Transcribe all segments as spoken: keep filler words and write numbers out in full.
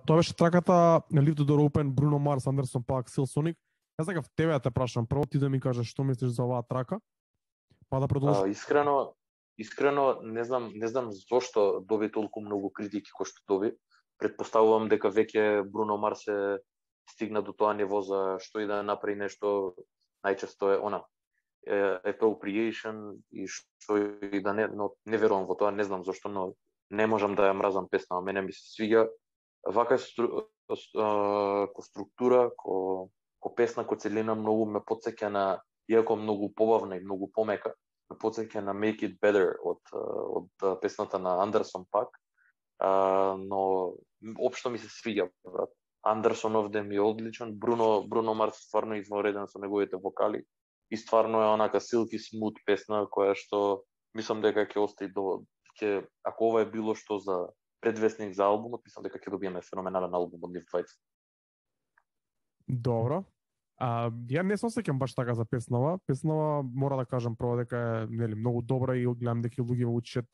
тоа беше траката на Leave the Door Open, Bruno Mars, Anderson .Paak, Silk Sonic. Јас сакав тебе да те прашам, прво ти да ми кажеш што мислиш за оваа трака, па да продолжиш. Искрено, искрено не знам, не знам зошто доби толку многу критики кој што доби. Предпоставувам дека веќе Бруно Марс е стигна до тоа ниво за што и да направи нешто, најчесто е она appropriation и што и да не, но не верувам во тоа, не знам зошто, но не можам да ја мразам песна, а мене ми се свиѓа вака стру, ко структура, ко, ко песна, ко целина многу ме потсеќа на, иако многу побавна и многу помека, ме потсеќа на Make It Better од, од песната на Anderson .Paak, но општо ми се свиѓа, брат. Андерсон овде ми е одличен, Бруно, Бруно Марс стварно извонреден со неговите вокали и стварно е онака silky smooth песна која што мислам дека ќе остаи до ќе ако ова е било што за предвестник за албумот, мислам дека ќе добиеме феноменален албум од нив двајца. Добро. А, ја не се осеќам баш така за песнава. Песнава мора да кажам прво дека е нели многу добра и гледам дека луѓе во учат.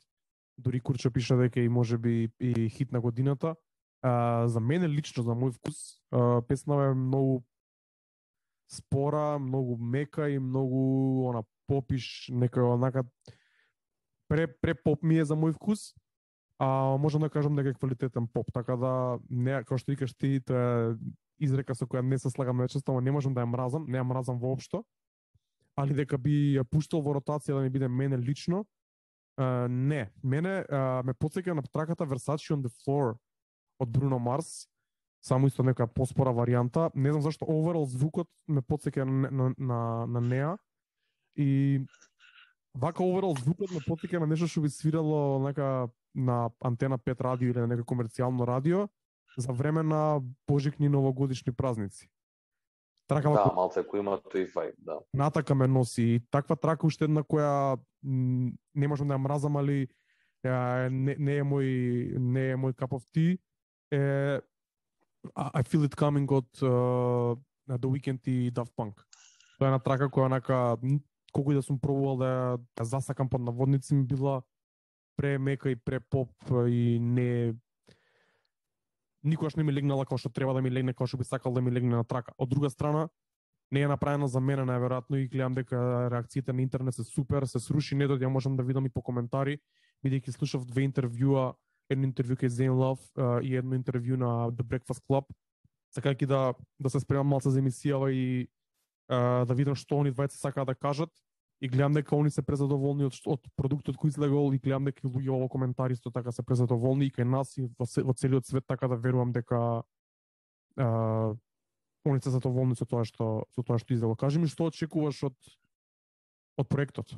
Дури Курчо пише дека и можеби и хит на годината. А, за мене лично, за мој вкус, а, песнава е многу спора, многу мека и многу она попиш, некој онака пре пре поп ми е за мој вкус. А можам да кажам дека е квалитетен поп, така да не како што викаш ти, тоа е изрека со која не се слагам најчесто, ама не можам да ја мразам, не ја мразам воопшто. Али дека би ја пуштал во ротација да ми биде мене лично, а, не. Мене а, ме потсеќа на траката Versace on the Floor од Bruno Mars, само исто нека поспора варијанта. Не знам зашто overall звукот ме потсеќа на, на, на, на неа. И вака overall звукот ме потсеќа на нешто што би свирало нека на Антена пет радио или на некој комерцијално радио за време на божикни новогодишни празници. Трака да, малце кој има тој вајб, да. Натака ме носи и таква трака уште една која м, не можам да ја мразам, али е, не, не е мој не е мој cup of tea. Е, I Feel It Coming од uh, The Weeknd и Daft Punk. Тоа е една трака која онака колку и да сум пробувал да ја засакам под наводници ми била премека и препоп и не никогаш не ми легнала како што треба да ми легне, како што би сакал да ми легне на трака. Од друга страна, не е направена за мене најверојатно и гледам дека реакциите на интернет се супер, се сруши недот, ја можам да видам и по коментари, бидејќи слушав две интервјуа, едно интервју кај Zane Love uh, и едно интервју на The Breakfast Club, сакајќи да да се спремам малце за емисијава и uh, да видам што они двајца сакаат да кажат. И гледам дека они се презадоволни од, од продуктот кој излегол и гледам дека луѓе во коментари исто така се презадоволни и кај нас и во, во целиот свет, така да верувам дека а, они се задоволни со тоа што со тоа што излегол. Кажи ми што очекуваш од од проектот?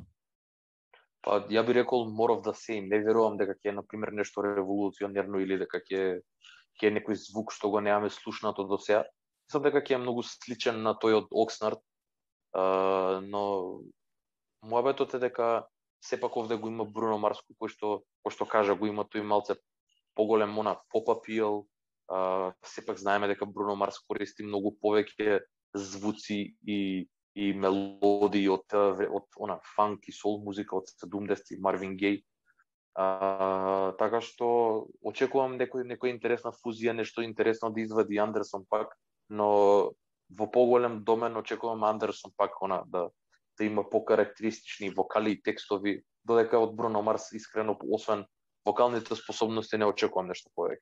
Па ја би рекол more of the same. Не верувам дека ќе е на пример нешто револуционерно или дека ќе ќе е некој звук што го немаме слушнато до сега. Мислам дека ќе е многу сличен на тој од Oxnard, а, но мојабетот е дека сепак овде го има Бруно Марс, кој што кој што кажа го има тој малце поголем она поп апил. Uh, сепак знаеме дека Бруно Марс користи многу повеќе звуци и и мелодии од од она фанк и сол музика од седумдесетти, Марвин Геј. Uh, така што очекувам некој некоја интересна фузија, нешто интересно да извади Андерсон .Paak, но во поголем домен очекувам Андерсон .Paak она да да има покарактеристични вокали и текстови, додека од Бруно Марс искрено освен вокалните способности не очекувам нешто повеќе.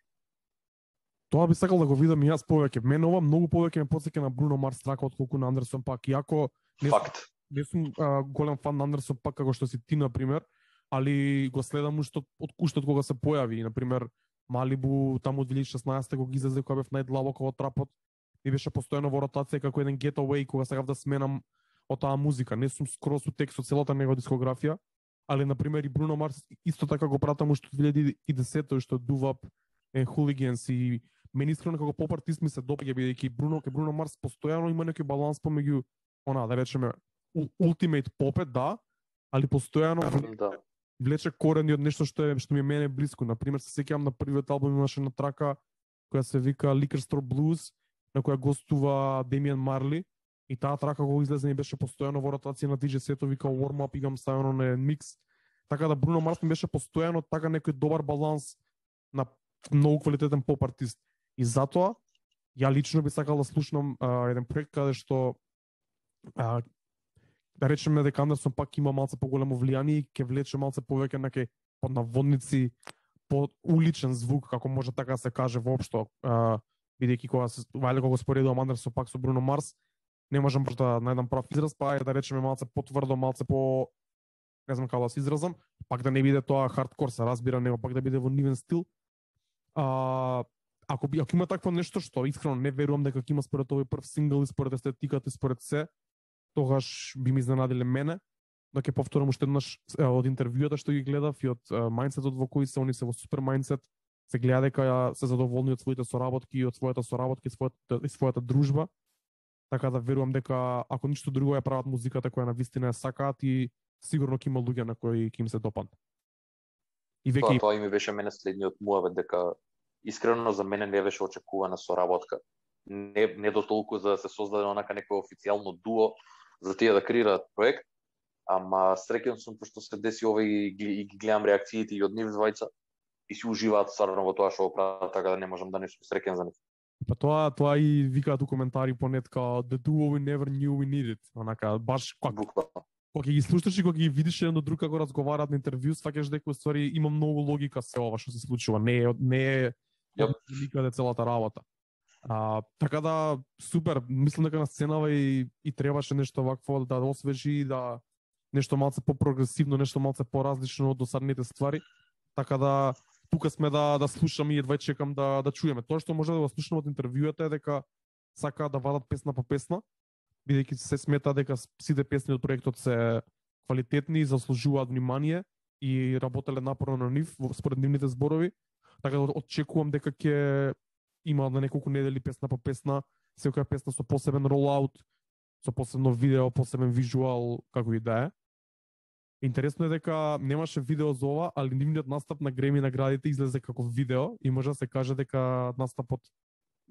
Тоа би сакал да го видам и јас повеќе. Мене ова многу повеќе ме потсеќа на Бруно Марс трака отколку на Андерсон .Paak. Иако не Факт. Сум, не сум а, голем фан на Андерсон .Paak како што си ти на пример, али го следам уште од уште од кога се појави, на пример Малибу таму од две илјади и шеснаесета кога излезе, кога бев најдлабоко во трапот, ми беше постојано во ротација како еден getaway кога сакав да сменам од таа музика. Не сум скроз у текст со целата негова дискографија, али на пример и Бруно Марс исто така го пратам уште од две илјади и десета што Doo Wop and Hooligans и мене искрено како поп артист ми се допаѓа бидејќи Бруно ке Бруно Марс постојано има некој баланс помеѓу она да речеме ultimate попет, да, али постојано да. влече корени од нешто што е што ми е мене блиско. На пример се сеќавам на првиот албум имаше на трака која се вика Liquor Store Blues, на која гостува Демиан Марли. И таа трака кога излезе ми беше постојано во ротација на ди џеј сетови као warm up, игам ставено на микс. Така да Бруно Марс ми беше постојано така некој добар баланс на многу квалитетен поп артист. И затоа ја лично би сакал да слушнам а, еден проект каде што а, да речеме дека Андерсон пак има малце поголемо влијание и ќе влече малце повеќе на ке под наводници, под уличен звук, како може така да се каже воопшто, а, бидејќи кога се вајле кога го споредувам Андерсон пак со Бруно Марс, не можам баш да најдам прав израз, па е да речеме малце потврдо, малце по не знам како да се изразам, пак да не биде тоа хардкор, се разбира, него пак да биде во нивен стил. А, ако би ако има такво нешто што искрено не верувам дека ќе има според овој прв сингл и според естетиката и според се, тогаш би ми изненадиле мене. Да ќе повторам уште еднаш од интервјуата што ги гледав и од мајндсетот во кој се, они се во супер мајндсет, се гледа дека се задоволни од своите соработки и од својата соработка и својата, и својата дружба. Така да верувам дека ако ништо друго ја прават музиката која на вистина ја сакаат и сигурно ќе има луѓе на кои ќе им се допадне. И веќе Тоа, тоа и ми беше мене следниот муавет дека искрено за мене не беше очекувана соработка. Не не до толку за да се создаде онака некој официјално дуо за тие да креираат проект, ама среќен сум пошто се деси ова и ги, и ги гледам реакциите и од нив двајца и си уживаат стварно во тоа што го прават, така да не можам да не сум среќен за нив. Па тоа тоа и викаат у коментари понет као the duo we never knew we needed. Онака баш кога кога ги слушаш и кога ги видиш еден до друг како разговараат на интервју, сваќаш дека ствари има многу логика се ова што се случува. Не е не е Yep. никаде целата работа. А, така да супер, мислам дека на сценава и и требаше нешто вакво да освежи, да нешто малце по-прогресивно, нешто малце поразлично од досадните ствари. Така да тука сме да да слушам и едва чекам да да чуеме. Тоа што може да го слушнам од интервјуата е дека сакаат да вадат песна по песна, бидејќи се смета дека сите песни од проектот се квалитетни и заслужуваат внимание и работеле напорно на нив според нивните зборови. Така да очекувам дека ќе има на неколку недели песна по песна, секоја песна со посебен ролаут, со посебно видео, посебен визуал, како и да е. Интересно е дека немаше видео за ова, али нивниот настап на Греми наградите излезе како видео и може да се каже дека настапот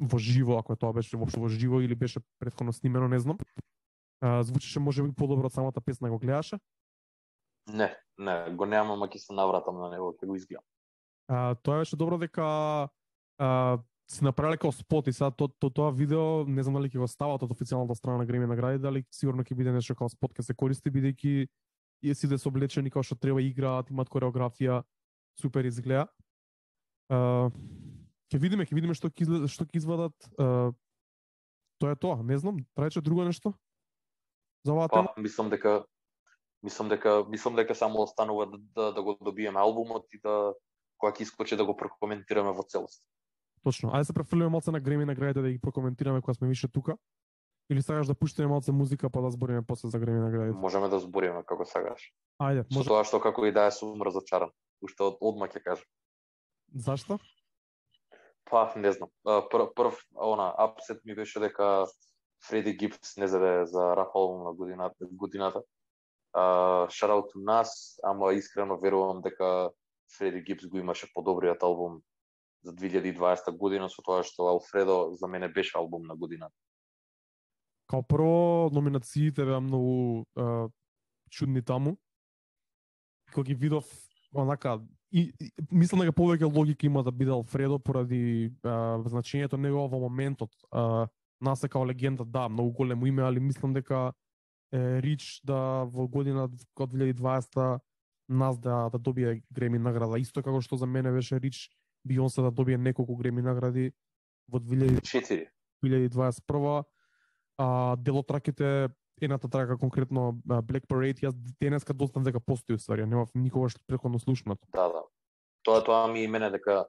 во живо, ако тоа беше воопшто во живо или беше претходно снимено, не знам. А, звучеше можеби подобро од самата песна, го гледаше? Не, не, го немам, ама ќе се навратам на него, ќе го изгледам. А, тоа беше добро дека а, си направиле као спот и сега то, то, тоа видео, не знам дали ќе го стават од официјалната страна на Греми награди, дали сигурно ќе биде нешто као спот ќе се користи, бидејќи и сите се облечени како што треба, играат, имаат кореографија, супер изгледа. А, ќе видиме, ќе видиме што ќе што ќе извадат. А, тоа е тоа, не знам, траече друго нешто за оваа тема? Па, мислам дека мислам дека мислам дека само останува да, да, да го добиеме албумот и да кога ќе искочи да го прокоментираме во целост. Точно. Ајде се префрлиме малце на Греми наградите да ги прокоментираме кога сме више тука. Или сакаш да пуштиме малце музика па да збориме после за Греми наградите? Можеме да збориме како сакаш. Ајде, Со може. тоа што како и да е сум разочаран. Уште од одма ќе кажам. Зашто? Па, не знам. Прв, прв она апсет ми беше дека Фреди Гипс не заде за рап албум на годината. годината. Uh, shout out to нас, ама искрено верувам дека Фреди Гипс го имаше подобриот албум за две илјади и дваесета година, со тоа што Алфредо за мене беше албум на годината. Као прво, номинациите беа многу uh, чудни таму. Кога ги видов, онака, и, и мислам дека повеќе логика има да биде Алфредо поради uh, значењето него во моментот. Uh, нас е као легенда, да, многу големо име, али мислам дека е Рич да во година од две илјади и дваесета нас да, да добие Греми награда. Исто како што за мене беше Рич Бионсе да добие неколку Греми награди во две илјади и дваесет и прва. А, дел од траките, едната трака конкретно Black Parade, јас денеска дознав дека постои уствари, немав никогаш претходно слушнато. Да, да. Тоа тоа ми и мене дека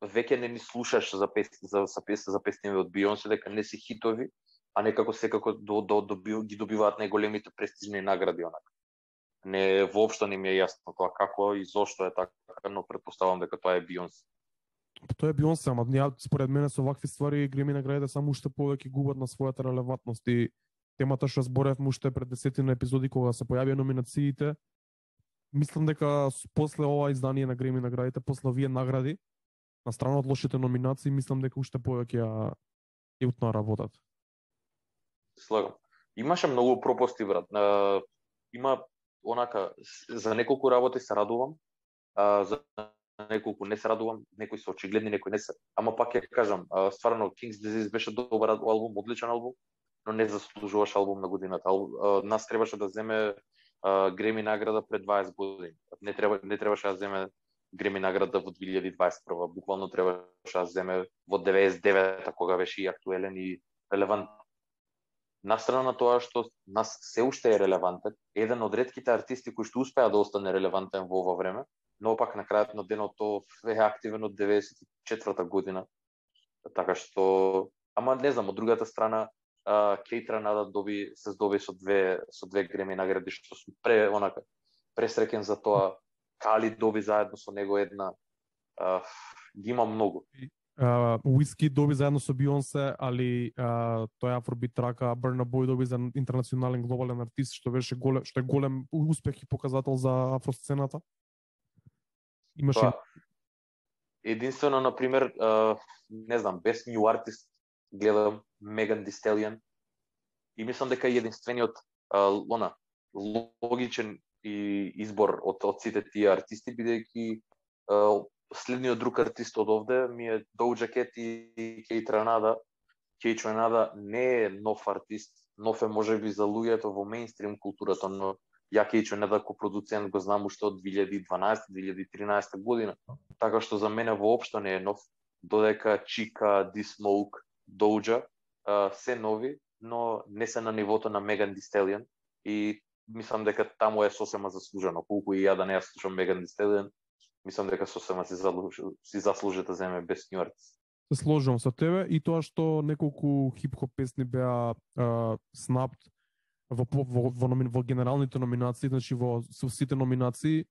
веќе не ни слушаш за песни за за песни за песни од Бионсе, дека не се хитови, а некако секако до, до, до, ги добиваат најголемите престижни награди онака. Не воопшто не ми е јасно тоа како и зошто е така, но претпоставам дека тоа е Бионсе. Тоа е Бионсе, ама ја според мене со вакви ствари Греми наградите само уште повеќе губат на својата релевантност и темата што зборевме уште пред десетина епизоди кога се појавија номинациите. Мислам дека после ова издание на Греми наградите, после овие награди, на страна од лошите номинации, мислам дека уште повеќе ја ја утна работат. Слагам. Имаше многу пропусти, брат. Uh, има онака за неколку работи се радувам. Uh, за неколку не се радувам, некои се очигледни, некои не се. Ама пак ќе кажам, стварно King's Disease беше добар албум, одличен албум, но не заслужуваш албум на годината. Нас требаше да земе Греми награда пред дваесет години. Не треба не требаше да земе Греми награда во две илјади дваесет и прва. Буквално требаше да земе во деветдесет и девета, кога беше и актуелен и релевантен. Настрана на тоа што нас се уште е релевантен, еден од ретките артисти кои што успеа да остане релевантен во ова време, но пак на крајот на денот тоа е активен од деветдесет и четврта година. Така што, ама не знам, од другата страна, Кейт Ранада доби се здоби со две со две Греми награди, што сум пре онака пресреќен за тоа. Кали доби заедно со него една, uh, ги има многу. Уиски uh, доби заедно со Бионсе, али uh, тој афробит трака Burna Boy доби за интернационален глобален артист, што беше голем, што е голем успех и показател за афросцената. Имаше Тоа, единствено на пример, uh, не знам, Best New Artist гледам Megan Thee Stallion и мислам дека е единствениот uh, она логичен и избор од, од сите тие артисти, бидејќи uh, следниот друг артист од овде ми е Doja Cat и Кейт Ранада. Кейт Ранада не е нов артист, нов е можеби за луѓето во мејнстрим културата, но ја Кейт Ранада како продуцент го знам уште од две илјади и дванаесета две илјади и тринаесета година. Така што за мене воопшто не е нов, додека Чика, D-Smoke, Doja uh, се нови, но не се на нивото на Megan Thee Stallion и мислам дека таму е сосема заслужено. Колку и ја да не ја слушам Megan Thee Stallion, мислам дека сосема си заслужи, си заслужи да земе Best New Artist. Се сложувам со тебе и тоа што неколку хип-хоп песни беа снапт во, во, во, во, во генералните номинации, значи во сите номинации,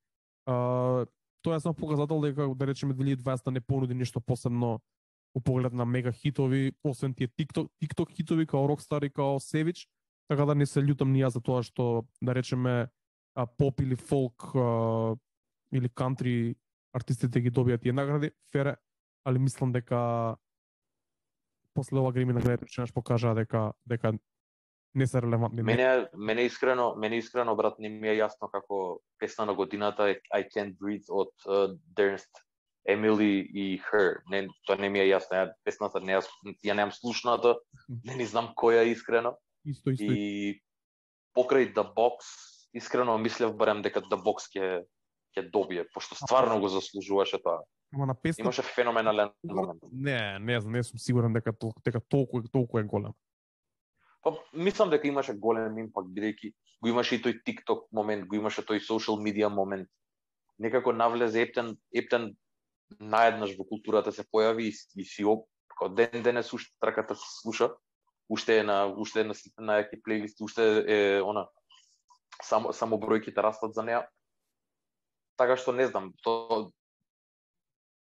а, тоа е само показател дека, да речеме, две илјади и дваесета не понуди нешто посебно у поглед на мега хитови, освен тие TikTok, TikTok хитови као Rockstar и као Savage, така да не се љутам ни јас за тоа што, да речеме, а, поп или фолк а, или кантри артистите ги добијат тие награди, фере, али мислам дека после ова Греми наградите што покажаа дека дека не се релевантни. Мене мене искрено, мене искрено брат не ми е јасно како песна на годината е I Can't Breathe од uh, Ernest Emily и Her. Не, тоа не ми е јасно. Ја песната не ја, ја немам слушната, не ни знам која е искрено. Исто, исто. И покрај The Box, искрено мислев барем дека The Box ќе ќе добие, пошто стварно го заслужуваше тоа. Ама на песна имаше феноменален момент. Не, не знам, не сум сигурен дека толку дека толку толку е голем. Па мислам дека имаше голем импакт бидејќи го имаше и тој TikTok момент, го имаше тој social media момент. Некако навлезе ептен ептен наеднаш во културата се појави и, и си об, како ден денес уште траката се слуша, уште е на уште е на сите најаки плейлисти, уште е она само само бројките растат за неа. Така што не знам, тоа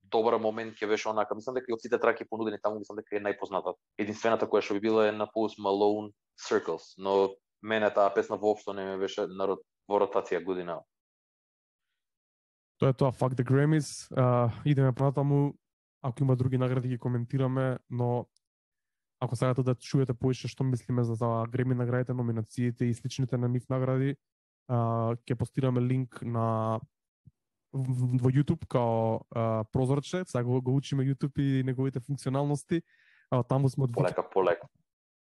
добар момент ќе беше онака. Мислам дека и од сите траки понудени таму, мислам дека е најпознатата. Единствената која што би била е на Post Malone Circles, но мене таа песна воопшто не ме беше на во ротација година. Тоа е тоа, fuck the Grammys. Uh, идеме понатаму, ако има други награди ги коментираме, но ако сакате да чуете повеќе што мислиме за, за Grammy наградите, номинациите и сличните на нив награди, uh, ќе постираме линк на во YouTube као а, прозорче, сега го, го учиме YouTube и неговите функционалности. А, таму сме од полека, полека.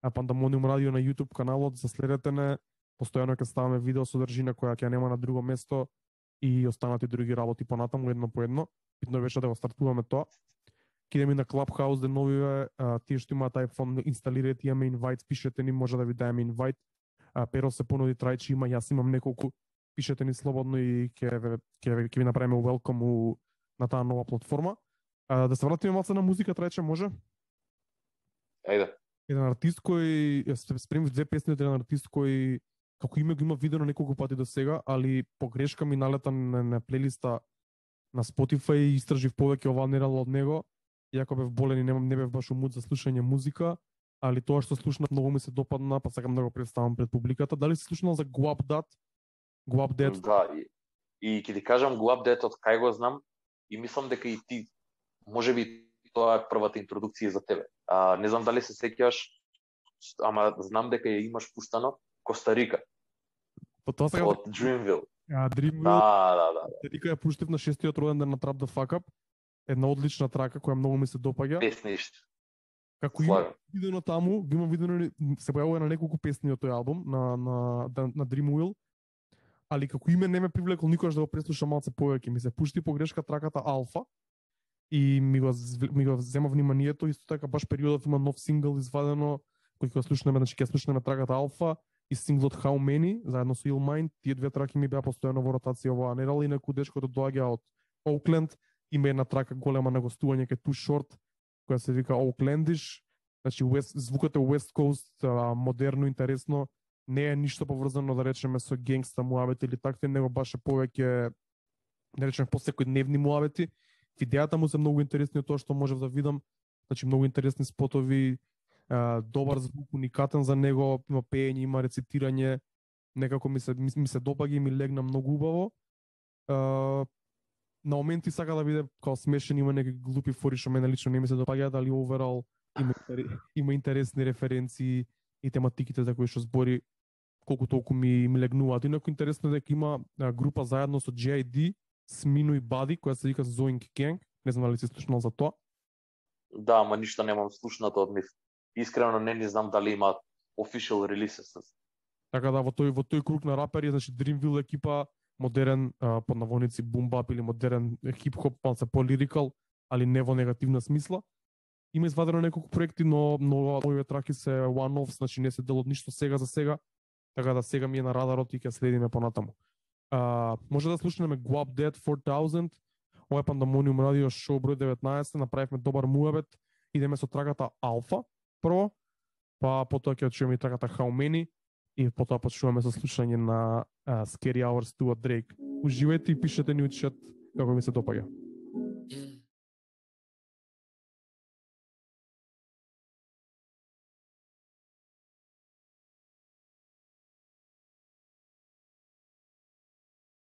А Пандамониум радио на YouTube каналот, за следете не, постојано ќе ставаме видео содржина која ќе нема на друго место и останати други работи понатаму едно по едно. Битно беше да го стартуваме тоа. Ќе идеме на Clubhouse деновиве, а, тие што имаат iPhone инсталирајте, имаме инвайт, пишете ни, може да ви даеме инвайт. А, Перо се понуди трајчи има, јас имам неколку, пишете ни слободно и ќе ќе ќе ви направиме welcome у, на таа нова платформа. А, да се вратиме малку на музика, трајче, може? Ајде. Еден артист кој спремив две песни од еден артист кој како име го има видено неколку пати до сега, али погрешка ми налета на, на плейлиста на Spotify и истражив повеќе оваа недела од него. Иако бев болен и не, не бев баш умут за слушање музика, али тоа што слушнав многу ми се допадна, па сакам да го представам пред публиката. Дали си слушнал за Guapdat? Guapdat? Да, и, и ќе ти кажам Guapdat од кај го знам и мислам дека и ти можеби тоа е првата интродукција за тебе. А, не знам дали се сеќаваш, ама знам дека ја имаш пуштано Коста Рика. По тоа од Dreamville. А Dream Wheel, Да, да, да. дека ја пуштив на шестиот роден ден на Trap the Fuck Up. Една одлична трака која многу ми се допаѓа. Песниште. Како има видено таму, ги има видено се појавува на неколку песни од тој албум на на на Dream Wheel. Али како име не ме привлекло никогаш да го преслушам малце повеќе. Ми се пушти погрешка траката Алфа и ми го ми го зема вниманието, исто така баш периодот има нов сингл извадено кој ќе слушнеме, значи ќе слушнеме траката Алфа и синглот How Many заедно со Illmind. Тие две траки ми беа постојано во ротација оваа недела и некој дечко да доаѓа од Оукленд, има една трака голема на гостување кај Too Short која се вика Oaklandish. Значи West, звукот е West Coast, а, модерно, интересно, не е ништо поврзано да речеме со генгста муабети или такви, него баш е повеќе да речеме по секојдневни муабети. Видеата му се многу интересни од тоа што можев да видам, значи многу интересни спотови, а, добар звук, уникатен за него, има пеење, има рецитирање, некако ми се ми, ми се допаѓа и ми легна многу убаво. А, на моменти сака да биде као смешен, има некои глупи фори што мене лично не ми се допаѓаат, али overall има, има интересни референции и тематиките за кои што збори колку толку ми, ми легнуваат. Инаку интересно е дека има а, група заедно со J I D, Смино и Бади, која се вика Zoink Gang. Не знам дали си слушнал за тоа. Да, ама ништо немам слушнато од нив. Искрено не ни знам дали има official releases. Така да во тој во тој круг на рапери, значи Dreamville екипа, модерен а, под наводници бумбап или модерен хип-хоп, малце по-лирикал, али не во негативна смисла. Има извадено неколку проекти, но но овие траки се one-offs, значи не се дел од ништо сега за сега. Така да сега ми е на радарот и ќе следиме понатаму. А, може да слушнеме Guap Dead four thousand, ова е Пандамониум радио шоу број деветнаесет, направивме добар муабет, идеме со траката Алфа прво, па потоа ќе чуеме и траката How Many и потоа почнуваме со слушање на uh, Scary Hours two од Drake. Уживајте и пишете ни у чат како ви се допаѓа.